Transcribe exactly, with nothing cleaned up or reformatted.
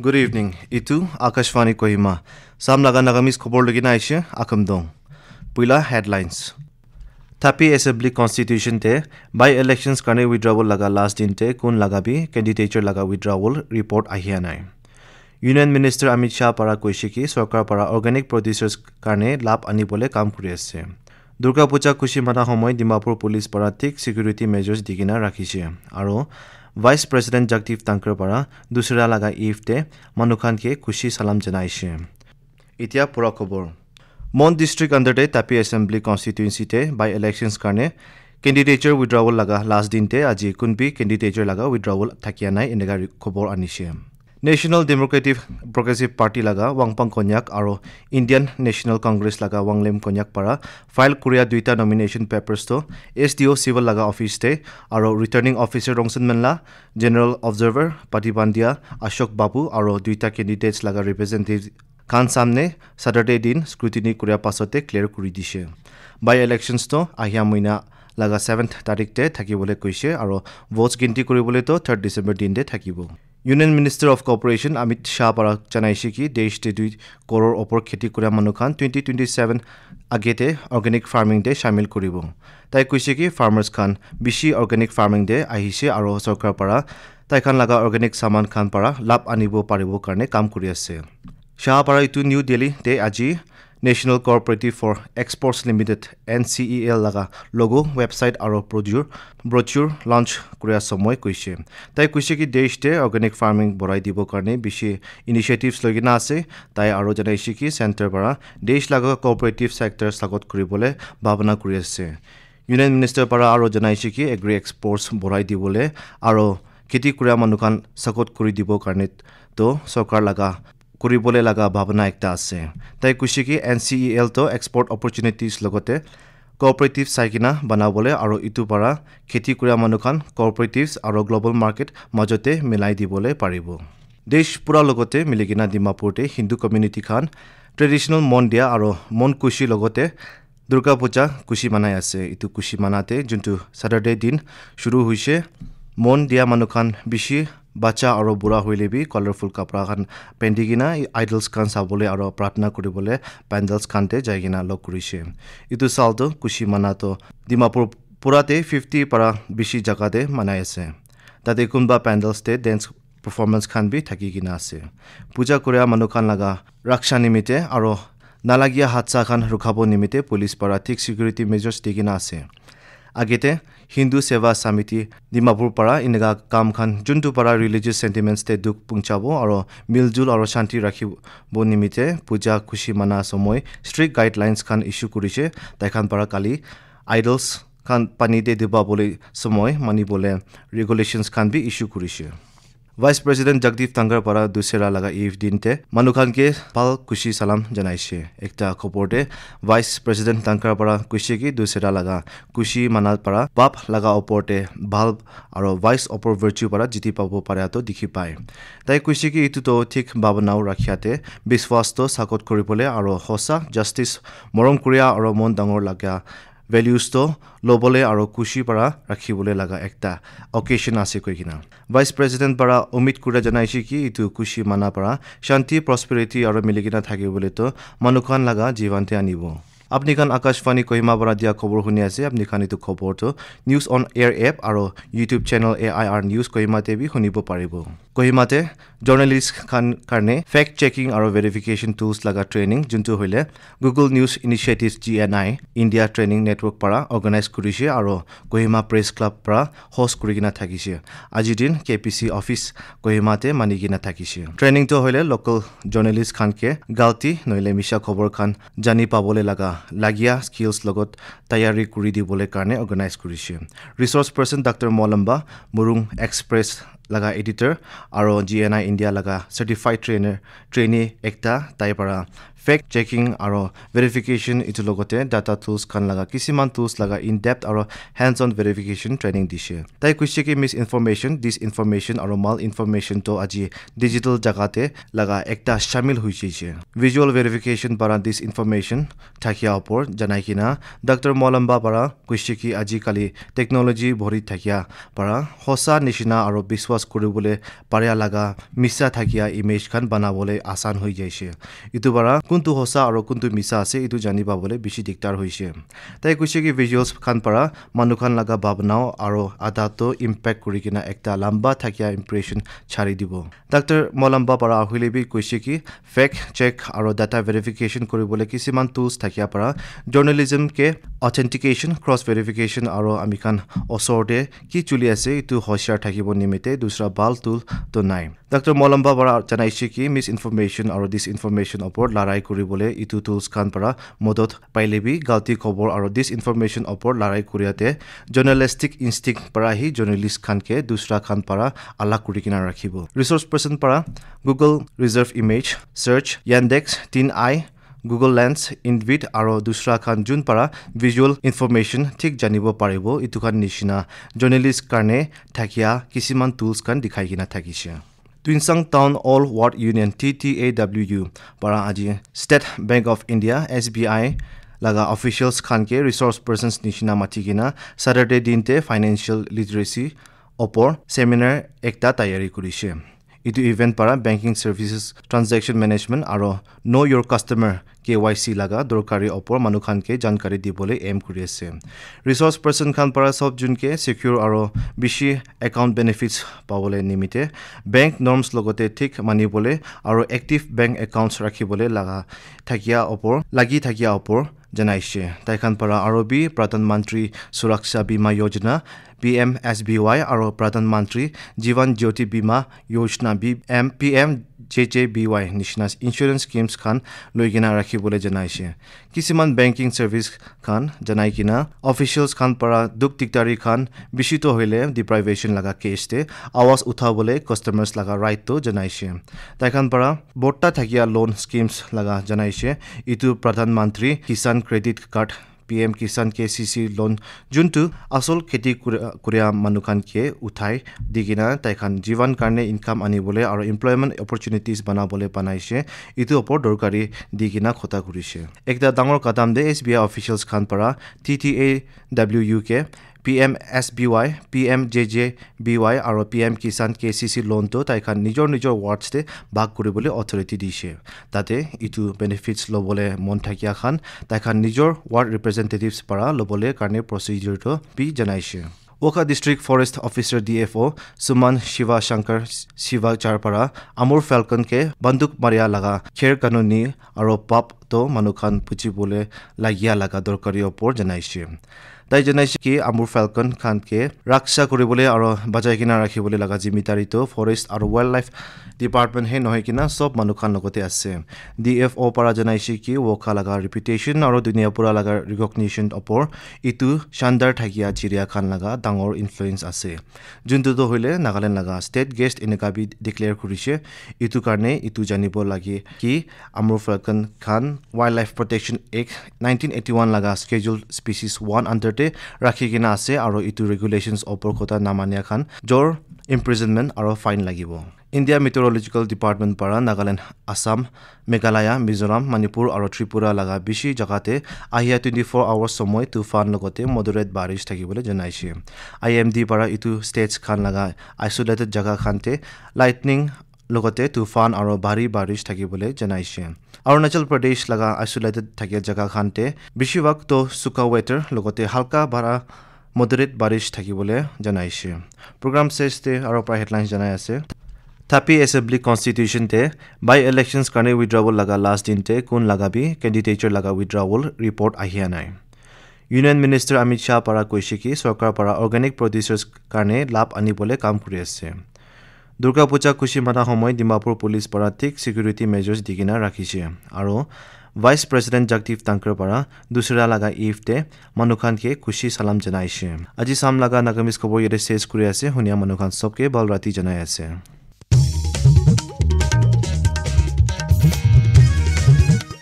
Good evening. Itu Akashvani Kohima. Sam laga Nagamese khobor lagi na aishe, akamdong. Puila headlines. Tapi Assembly Constitution te by-elections karne withdrawal laga last din te kun laga bi candidature laga withdrawal report ahia nai. Union Minister Amit Shah para koishe ki sorkar para organic producers karne labh anibole kam kuri ase. Durga Puja khushi mana homoy Dimapur Police para thik security measures digina rakhishe. Aro Vice President Jagdeep Dhankhar para dusra laga eve te manu khan ke khushi salam janaishe. Itya pura khobor. Mon District under te Tapi Assembly Constituency te by-elections karne candidature withdrawal laga last din te aji kun bi candidature laga withdrawal thakia nai eneka ri-, khobor anishe. National Democratic Progressive Party laga Wangpang Konyak aro Indian National Congress laga Wanglem Konyak para file kuria duita nomination papers to S D O Civil laga office te aro returning officer Rongsen Menla, General Observer Pati Bandia, Ashok Babu aro duita candidates laga representative khan samne Saturday din scrutiny kuria pasot te clear kuri dishe. By-elections to ahia muina laga seventh tarik te thakibole koishe aro votes ginti kuribole to third December din te thakibo. Union Minister of Cooperation Amit Shah para janaishe ki desh te dui koror opor kheti kura manu khan twenty twenty-seven age te organic farming te shamil kuribo. Tai koishe ki farmers khan bishi organic farming te ahishe aro sorkar para tai khan laga organic saman khan para labh anibo paribo karne kam kuri ase. Shah para itu New Delhi te aji National Cooperative for Exports Limited, N C E L laga logo, website aro brochure, brochure launch kuria somoy koishe. Tai koishe ki desh te organic farming borai dibo karne bishi initiatives loi kena ase. Tai aro janaishe ki center para desh laga cooperative sectors lagot kuribole bhabana kuri ase. Union Minister para aro janaishe ki agri exports borai dibole aro kheti kura manu khan support kuri dibo karne to sorkar laga kuribole laga bhabana ekta ase. Tai koishe ki N C E L to export opportunities logote cooperative sai kena banabole aro itu para kheti kura manu khan cooperatives aro global market majote milai dibole paribo. Desh pura logote milikena Dimapur te Hindu community khan traditional Mon Dia aro Mon Khushi logote Durga Puja khushi manai ase. Itu khushi mana te juntu Saturday din shuru hoishe. Mon Dia manu khan bishi bacha aro bura hoile bi colorful kapra khan pendi kena idols khan sabole aro pratna kuribole pandals khan te jai kena log kurishe. Itu sal to khushi mana to Dimapur pura te fifty para bishi jaga te manai ase. Tate kunba pandals te dance performance khan bi thaki kena ase. Puja kuria manu khan laga raksha nimite aro nalagia hadsa khan rukhabo nimite police para thik security measures di kena ase. Agete Hindu Seva Samiti Dimapur para eneka kam khan juntu para religious sentiments te dukh punchabo aro miljul aro shanti rakhibo nimite puja khushi mana somoy strict guidelines khan issue kurishe. Tai khan para kali idols khan pani te diba bole somoy mani bole regulations khan bi issue kurishe. Vice President Jagdeep Dhankhar para dusera laga eve din te manu khan ke bhal khushi salam janaishe. Ekta khobor te Vice President Dhankhar para koishe ki dusera laga khushi mana para pap laga opor te bhal aro vice opor virtue para jiti pabo para to dikhi pai. Tai koishe ki itu to thik bhabana rakhia te biswas to sakot kuribole aro hosa justice morom kuria aro mon dangor laga values to lobole aro khushi para rakhibole laga ekta occasion ase koi kena. Vice President para umid kura janaishe ki itu khushi mana para shanti, prosperity aro milikena thakibole to manu khan laga jivan te anibo. Apni khan Akashvani Kohima para dia khobor huni ase. Apni khan itu khobor to News on Air app aro YouTube channel A I R News Kohima te bi hunibo paribo. Kohima te journalist khan karne fact checking aro verification tools laga training juntu hoile Google News Initiative G N I India Training Network para organize kurishe aro Kohima Press Club para host kuri kena thakishe. Aji din K P C office Kohima te mani kena thakishe. Training to hoile local journalist khan ke galti nohile misha khobor khan jani pabole laga lagia skills logot tayari kuri dibole karne organize kurishe. Resource person Doctor Molamba, Murung Express laga editor aro G N I India laga certified trainer trainee ekta tai para fact checking aro verification itu logote data tools khan laga kisiman tools laga in depth aro hands on verification training dishe. Tai koishe ki misinformation, disinformation aro malinformation to aji digital jaga te laga ekta shamil hoishe. Visual verification para disinformation thakia opor janai kena Doctor Molamba para koishe ki aji kali technology bhori thakia para hosa nishina aro biswas kuribole paria laga misa thakia image khan banabole asan hoi jaise. Itu para kuntu hosa aro kuntu misa ase, itu jani pabole bishi diktar hoise. Tai koise ki visuals khan para manu khan laga bhabna aro adat to impact kuri kena ekta lamba thakia impression chari dibo. Doctor Molamba para ahile bi koise ki fact check aro data verification kuribole kisiman tools thakia para journalism ke authentication, cross verification aro ami khan osor te ki chuli ase itu hoshiar thakibo nimite dusra bhal tool to nai. Doctor Molamba para janaise ki misinformation aro disinformation opor larai kuribole itu tools khan para modot paile bi galti khobor aro disinformation opor larai kuriate journalistic instinct para hi journalist khan ke dusra khan para alag kuri kena rakhibo. Resource person para Google Reserve Image Search, Yandex, TinEye, Google Lens, Invid aro dusra khan jun para visual information thik janibo paribo, itu khan nishina journalist karne thakia kisiman tools khan dikhai kena thakishe. Tuensang Town All Ward Union, T T A W U, para aji State Bank of India, S B I, laga officials khan ke resource persons nishina mati kena Saturday din te financial literacy opor seminar ekta tayari kurishe. Itu event para banking services, transaction management aro know your customer, K Y C, laga dorkari opor manu khan ke jankari dibole aim kuri ase. Resource person khan para sob jun ke secure aro bishi account benefits pabole nimite bank norms logote thik manibole aro active bank accounts rakhibole laga thakia opor, lagi thakia opor janaishe. Tai khan para aro bi Pradhan Mantri Suraksha Bima Yojana, P M S B Y, aro Pradhan Mantri Jeevan Jyoti Bima Yojana, B M, P M J J B Y nishina insurance schemes khan loi kena rakhibole janaishe. Kisiman banking service khan janai kena officials khan para duk diktari khan bishi to hoile deprivation laga case te awas uthabole customers laga right to janaishe. Tai khan para botta thakia loan schemes laga janaishe. Itu Pradhan Mantri Kisan Credit Card, P M Kisan K C C loan, juntu asol kheti kura, kuria manu khan ke uthai di kena tai khan jivan karne income anibole aro employment opportunities banabole banaishe. Itu opor dorkari di kena khota kurishe. Ekta dangor kadam de S B I officials khan para T T A W U ke P M S B Y, P M J J B Y aro P M Kisan K C C loan to tai khan nijor nijor wards te bhag kuribole authority dishe. Tate itu benefits lobole mon thakia khan tai khan nijor ward representatives para lobole karne procedure to bi janaishe. Wokha District Forest Officer, D F O, Suman Shiva Shankar Shivachar para Amur Falcon ke banduk maria laga kher kanuni aro pap to manu khan buji bole lagia laga dorkari opor janaishe. Tai janaishe ki Amur Falcon khan ke raksha kuribole aro bajai kena rakhibole laga jimidari to Forest aro Wildlife Department he nohoi kena sob manu khan logote ase. D F O para janaishe ki Wokha laga reputation aro dunia pura laga recognition opor itu shandar thakia chiria khan laga dangor influence ase. Juntu to hoile Nagaland laga state guest eneka bi declare kurishe. Itu karne itu janibo lage ki Amur Falcon khan Wildlife Protection Act nineteen eighty-one laga Schedule Species one under te rakhi kena ase aro itu regulations opor kotha namania khan jor imprisonment aro fine lagibo. India Meteorological Department para Nagaland, Assam, Meghalaya, Mizoram, Manipur aro Tripura laga bishi jaga te ahia twenty-four hours somoi tufan logote moderate barish thakibole janaishe. I M D para itu states khan laga isolated jaga khan te lightning logote tufan aro bhari barish thakibole janaishe. Arunachal Pradesh laga isolated thakia jaga khan te bishi bhag to suka weather logote halka bhara moderate barish thakibole janaishe. Program ses te aro pra headlines janai ase. Tapi Assembly Constitution te by-elections karne withdrawal laga last din te kun laga bi candidature laga withdrawal report ahia nai. Union Minister Amit Shah para koishe ki sorkar para organic producers karne labh anibole kam kuri ase. Durga Puja khushi mana homoy Dimapur Police para thik security measures di kena rakhishe. Aro Vice President Jagdeep Dhankhar para Dussehra laga Eve te manu khan ke khushi salam janaishe. Aji sam laga Nagamese khobor yate ses kuri ase, hunia manu khan sob ke bhal rati janai ase.